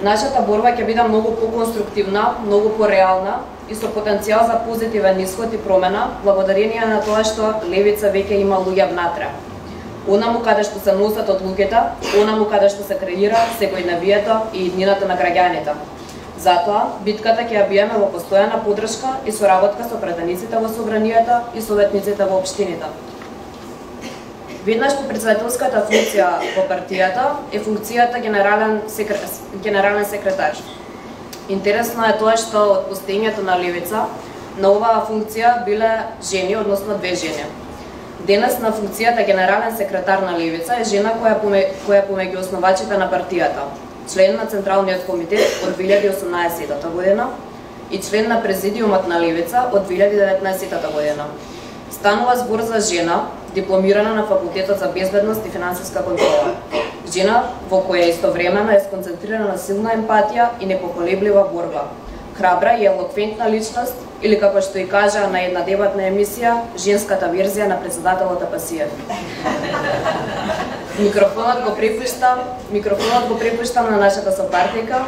Нашата борба ќе биде многу поконструктивна, многу пореална и со потенцијал за позитивен исход и промена, благодарение на тоа што левица веќе има луѓе внатре. Онаму каде што се носат одлуките, онаму каде што се креира секојдневието и иднината на граѓаните. Затоа, битката ќе ја биеме во постојана поддршка и соработка со пратениците во собранието и советниците во општините. Веднаш по председателската функција во партијата е функцијата генерален секретар. Интересно е тоа што од постоењето на левица на оваа функција биле жени, односно две жени. Денес на функцијата генерален секретар на левица е жена која помеѓу основачите на партијата, член на Централниот комитет од 2018 година и член на Президиумот на левица од 2019 година. Станува збор за жена, дипломирана на Факултетот за безбедност и финансиска контрола. Жена во која истовремено е сконцентрирана силна емпатија и непоколеблива борба. Храбра и елоквентна личност, или како што и кажа на една дебатна емисија, женската верзија на председателот Апасиев. Микрофонот го препуштам на нашата сопартника,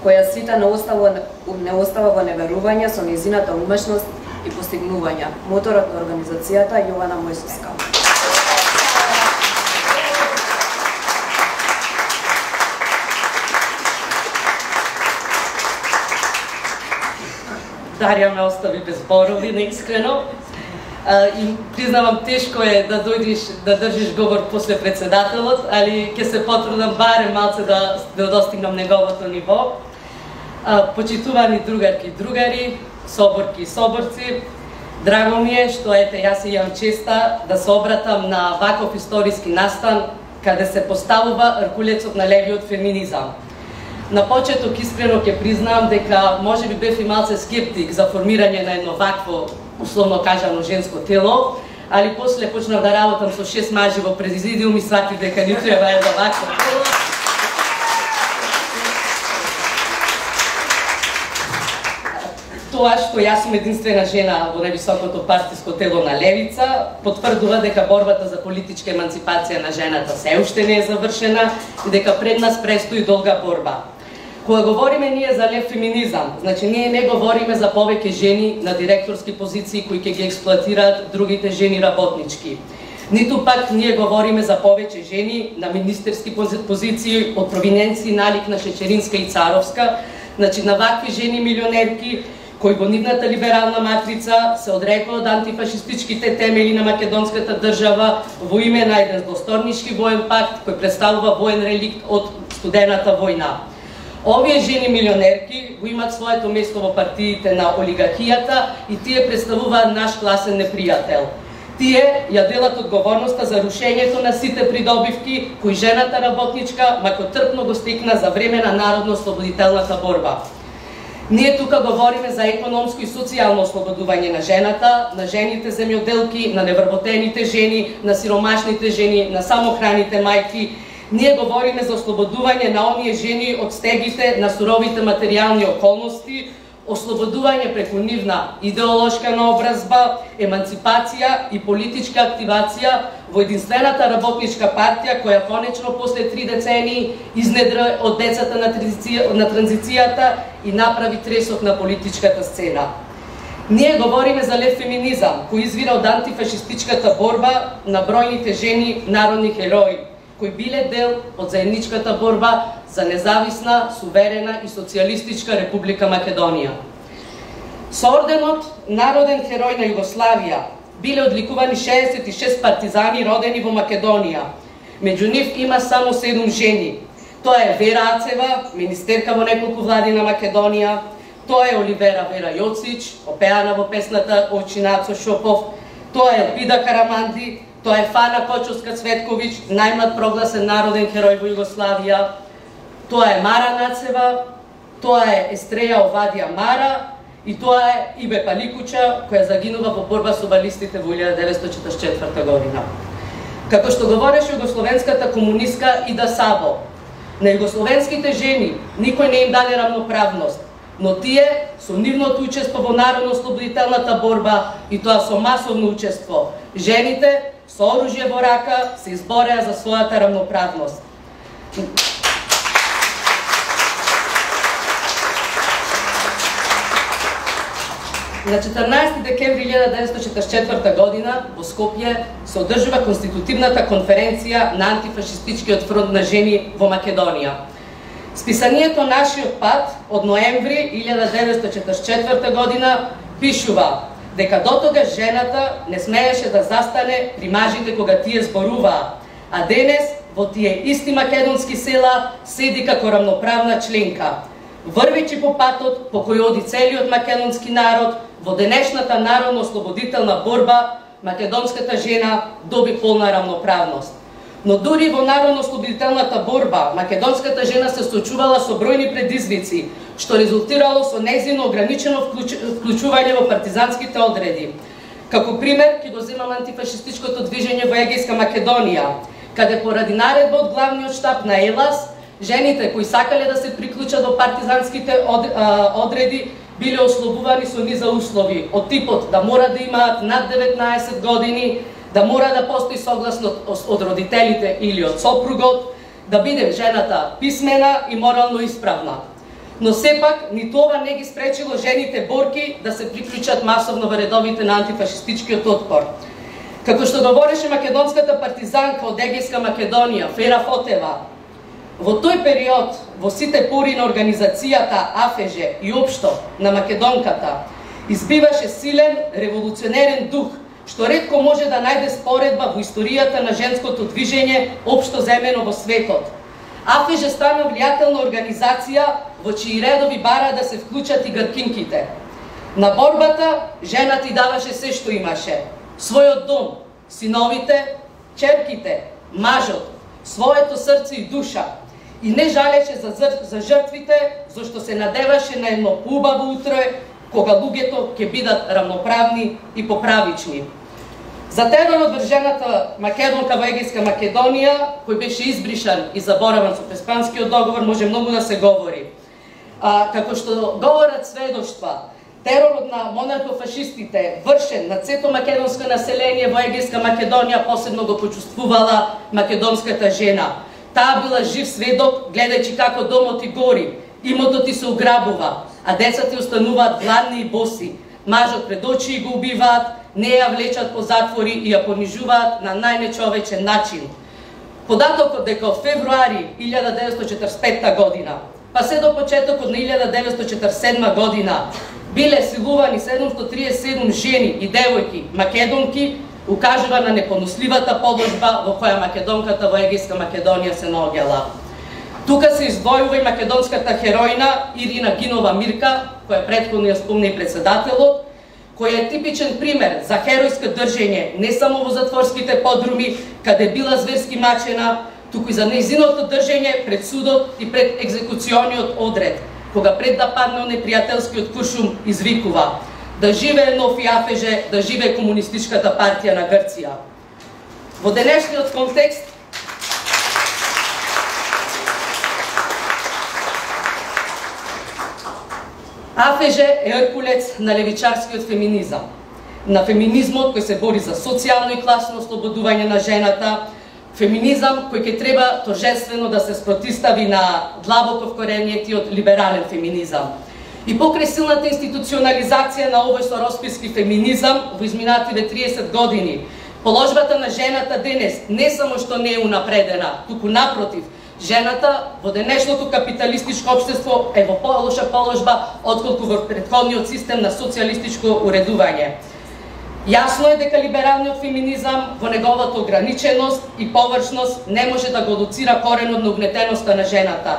која сите не остава во неверување со нејзината умешност и постигнувања, моторот на организацијата Јована Мојсовска. Дарија ме остави без зборови, неискрено. И признавам, тешко е да дојдеш да држиш говор после председателот, али ќе се потрудам барем малце да достигнам неговото ниво. Почитувани другарки и другари, соборки и соборци, драго ми е што јас имам честа да се обратам на ваков историски настан каде се поставува ркулецот на левиот феминизам. На почеток искрено ќе признавам дека можеби бев и малце скептик за формирање на едно вакво, условно кажано, женско тело, али после почнав да работам со 6 мажи во президиум и сватив дека ни треба едно вакво тело. Тоа што јас сум единствена жена во највисокото партиско тело на левица потврдува дека борбата за политичка еманципација на жената се уште не е завршена и дека пред нас престои долга борба. Кога говориме ние за лев феминизам, значи ние не говориме за повеќе жени на директорски позиции кои ќе ги експлоатираат другите жени работнички. Ниту пак ние говориме за повеќе жени на министерски позиции од провиненции налик на Шечеринска и Царовска, значи на вакви жени милионерки кои во нивната либерална матрица се одрекува од антифашистичките темели на македонската држава во име на еден злосторнички воен пакт кој представува воен реликт од студената војна. Овие жени милионерки го имат своето место во партиите на олигархијата и тие представуваат наш класен непријател. Тие ја делат одговорноста за рушењето на сите придобивки кои жената работничка макотрпно го стекна за време на народно-ослободителната борба. Ние тука говориме за економско и социјално ослободување на жената, на жените земјоделки, на невработените жени, на сиромашните жени, на самохраните мајки. Ние говориме за ослободување на оние жени од стегите на суровите материјални околности, ослободување преку нивна идеолошка наобразба, еманципација и политичка активација во единствената работничка партија која конечно после 3 децении изнедра од децата на транзицијата и направи тресок на политичката сцена. Ние говориме за лев феминизам кој извира од антифашистичката борба на бројните жени народни херои кои биле дел од заедничката борба за независна, суверена и социјалистичка Република Македонија. Со орденот Народен херој на Југославија биле одликувани 66 партизани родени во Македонија. Меѓу нив има само 7 жени. Тоа е Вера Ацева, министерка во неколку влади на Македонија, тоа е Оливера Вера Јоцич, опеана во песната Овчинацо Шопов, тоа е Елпида Караманди, тоа е Фана Кочовска-Цветковиќ, најмлад прогласен народен херој во Југославија, тоа е Мара Нацева, тоа е Естреја Овадија Мара и тоа е Ибе Паликуча, која загинува во борба со балистите во 1944 година. Како што говореше југословенската комунистка Ида Сабо, на југословенските жени никој не им даде равноправност, но тие со нивното учество во народно-ослободителната борба и тоа со масовно учество, жените со оружје во рака се избореа за својата равноправност. На 14 декември 1944 година во Скопје се одржува конститутивната конференција на антифашистичкиот фронт на жени во Македонија. Списанието Нашиот пат од ноември 1944 година пишува дека дотогаш жената не смееше да застане при мажите кога тие зборуваа, а денес во тие исти македонски села седи како рамноправна членка, врвечи по патот по кој оди целиот македонски народ. Во денешната народно-ослободителна борба македонската жена доби полна рамноправност. Но дури во народно-ослободителната борба македонската жена се соочувала со бројни предизвици, што резултирало со нејзино ограничено вклучување во партизанските одреди. Како пример ќе го земам антифашистичкото движење во Егејска Македонија, каде поради наредба од главниот штаб на ЕЛАС, жените кои сакале да се приклучат до партизанските одреди биле ослобувани со низа услови, од типот да мора да имаат над 19 години, да мора да постои согласност од родителите или од сопругот, да биде жената писмена и морално исправна. Но сепак, ниту ова не ги спречило жените борки да се приклучат масовно во редовите на антифашистичкиот отпор. Како што говореше македонската партизанка од Егејска Македонија, Фера Фотева, во тој период, во сите пори на организацијата АФЖ и општо на македонката, избиваше силен револуционерен дух, што ретко може да најде споредба во историјата на женското движење општо земено во светот. АФЖ стана влијателна организација во чии редови бара да се вклучат и гркинките. На борбата жената и даваше се што имаше: својот дом, синовите, черките, мажот, своето срце и душа, и не жалеше за жртвите, зашто се надеваше на едно поубаво утро, кога луѓето ќе бидат рамноправни и поправични. За теророт врз жената македонка во Егејска Македонија, кој беше избришан и забораван со Преспанскиот договор, може многу да се говори. Како што говорат сведоштва, теророт на монархофашистите вршен над сето македонско население во Егејска Македонија посебно го почувствувала македонската жена. Таа била жив сведок, гледајќи како домот и гори, имотот и се ограбува, а децата остануваат гладни и боси. Мажот пред очи го убиваат, не ја влечат по затвори и ја понижуваат на најнечовечен начин. Податокот дека од февруари 1945 година, па се до почетокот на 1947 година, биле силувани 737 жени и девојки македонки, укажува на непоносливата положба во која македонката во Егејска Македонија се наоѓала. Тука се издвојува и македонската хероина Ирина Гинова Мирка, која претходно ја спомна и председателот, која е типичен пример за херојско држење не само во затворските подруми, каде била зверски мачена, туку и за нејзиното држење пред судот и пред екзекуциониот одред, кога пред да падне непријателскиот куршум извикува: да живее нов АФЖ, да живее Комунистичката партија на Грција. Во денешниот контекст, АФЖ е еркулец на левичарскиот феминизам, на феминизмот кој се бори за социјално и класно ослободување на жената, феминизам кој ќе треба торжествено да се спротистави на длабоко вкоренетиот либерален феминизам. И покрај силната институционализација на овој со росписки феминизам во изминативе 30 години, положбата на жената денес не само што не е унапредена, туку напротив, жената во денешното капиталистичко општество е во полоша положба отколку во претходниот систем на социјалистичко уредување. Јасно е дека либералниот феминизам во неговата ограниченост и површност не може да го луцира коренот на угнетеноста на жената.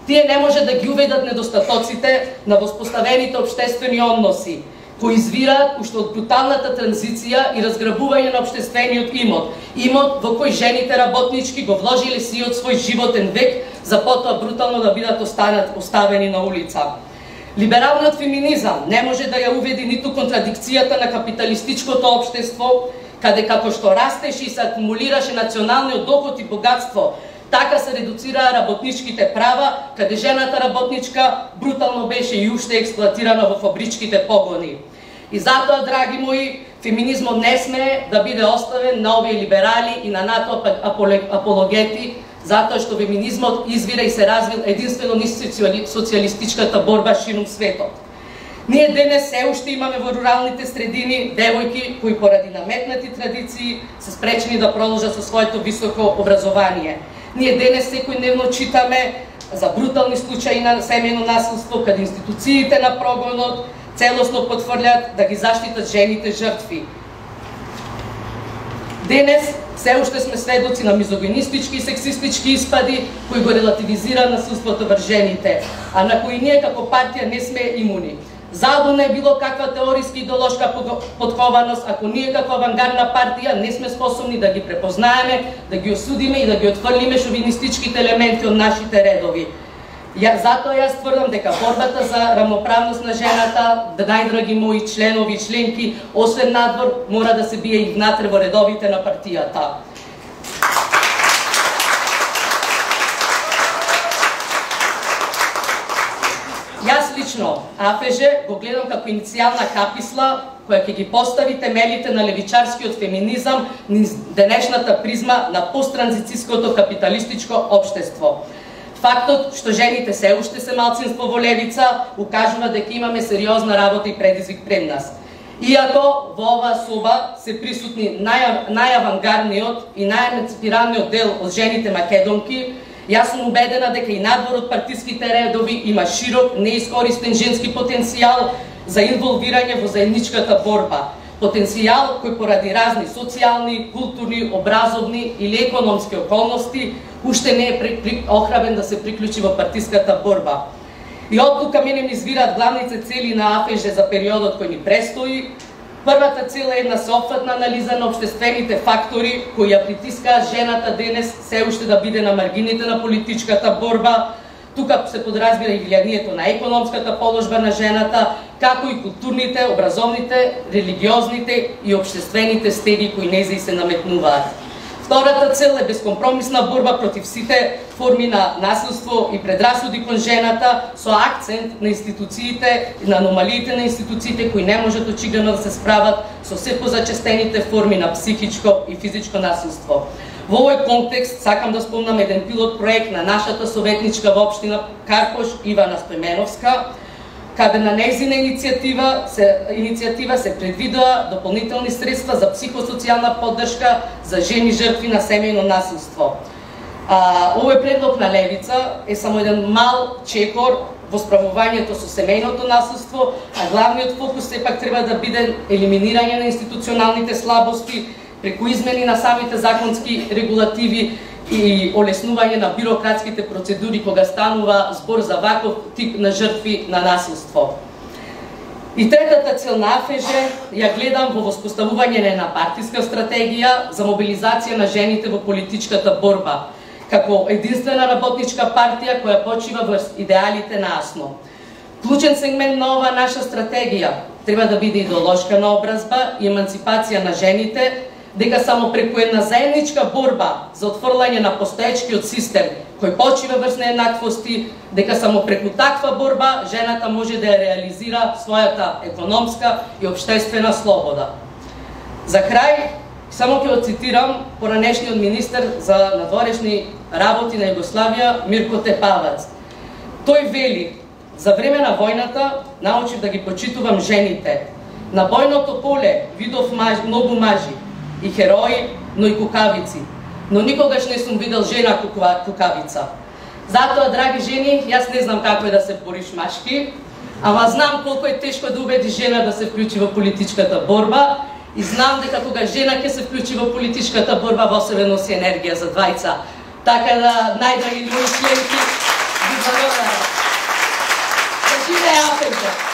Тие не може да ги уведат недостатоците на воспоставените општествени односи, кои извираат уште од бруталната транзиција и разграбување на општествениот имот, имот во кој жените работнички го вложиле сиот свој животен век, за потоа брутално да бидат оставени на улица. Либералниот феминизам не може да ја уведи ниту контрадикцијата на капиталистичкото општество, каде како што растеше и се акумулираше националниот доход и богатство, така се редуцираа работничките права, каде жената работничка брутално беше и уште експлоатирана во фабричките погони. И затоа, драги мои, феминизмот не смее да биде оставен на овие либерали и на НАТО апологети, затоа што феминизмот извира и се развил единствено низ социјалистичката борба ширум светот. Ние денес се уште имаме во руралните средини девојки кои поради наметнати традиции се спречени да продолжат со своето високо образование. Ние денес секојдневно читаме за брутални случаи на семејно насилство, каде институциите на прогонот целосно потврдат да ги заштитат жените жртви. Денес се уште сме сведоци на мизогинистички и сексистички испади кои го релативизира насилството врз жените, а на кои ние како партија не сме имуни. Задо е било каква теориска идеолошка подкованост, ако ние како авангардна партија не сме способни да ги препознаеме, да ги осудиме и да ги отфрлиме шовинистичките елементи од нашите редови. Затоа јас тврдам дека борбата за рамноправност на жената, најдраги мои членови и членки, освен надвор, мора да се бие и внатре во редовите на партијата. Јас лично АФЖ го гледам како иницијална каписла која ќе ги постави темелите на левичарскиот феминизам низ денешната призма на посттранзицијското капиталистичко општество. Фактот што жените се уште се малцинство во левица укажува дека имаме сериозна работа и предизвик пред нас. Иако во оваа соба се присутни најавангардниот и најеманципираниот дел од жените македонки, јас сум убедена дека и надвор од партиските редови има широк, неискористен женски потенцијал за инволвирање во заедничката борба. Потенцијал кој поради разни социјални, културни, образовни или економски околности уште не е охрабен да се приклучи во партиската борба. И од тука мене ми извираат главните цели на АФЖ за периодот кој ни престои. Првата цел е една сеопфатна анализа на општествените фактори кои ја притискаат жената денес се уште да биде на маргините на политичката борба. Тука се подразбира и влијанието на економската положба на жената, како и културните, образовните, религиозните и општествените стеги кои нејзи се наметнуваат. Втората цел е безкомпромисна борба против сите форми на насилство и предрасуди кон жената со акцент на институциите и на аномалиите на институциите кои не можат очигледно да се справат со се позачестените форми на психичко и физичко насилство. Во овој контекст сакам да спомнам еден пилот проект на нашата советничка во општина Карпош Ивана Стојменовска, каде на нејзина иницијатива се предвидува дополнителни средства за психосоцијална поддршка за жени жртви на семејно насилство. Овој предлог на левица е само еден мал чекор во справувањето со семејното насилство, а главниот фокус сепак треба да биде елиминирање на институционалните слабости преку измени на самите законски регулативи и олеснување на бирократските процедури кога станува збор за ваков тип на жртви на насилство. И третата цел на АФЖ ја гледам во воспоставување на една партиска стратегија за мобилизација на жените во политичката борба, како единствена работничка партија која почива врз идеалите на АСНО. Клучен сегмент на оваа наша стратегија треба да биде идеолошка наобразба и еманципација на жените, дека само преку една заедничка борба за отфрлање на постоечкиот систем кој почива врз нееднаквости, дека само преку таква борба жената може да ја реализира својата економска и општествена слобода. За крај, само ќе го цитирам поранешниот министер за надворешни работи на Југославија Мирко Тепавац. Тој вели: за време на војната научив да ги почитувам жените. На бојното поле видов многу мажи и херои, но и кукавици. Но никогаш не сум видел жена кукавица. Затоа, драги жени, јас не знам како е да се бориш машки, ама знам колку е тешко да убеди жена да се вклучи во политичката борба и знам дека кога жена ќе се вклучи во политичката борба, во себе носи енергија за двајца. Така да, најдраги мои членки, ви благодарам. Да живее АФЖ!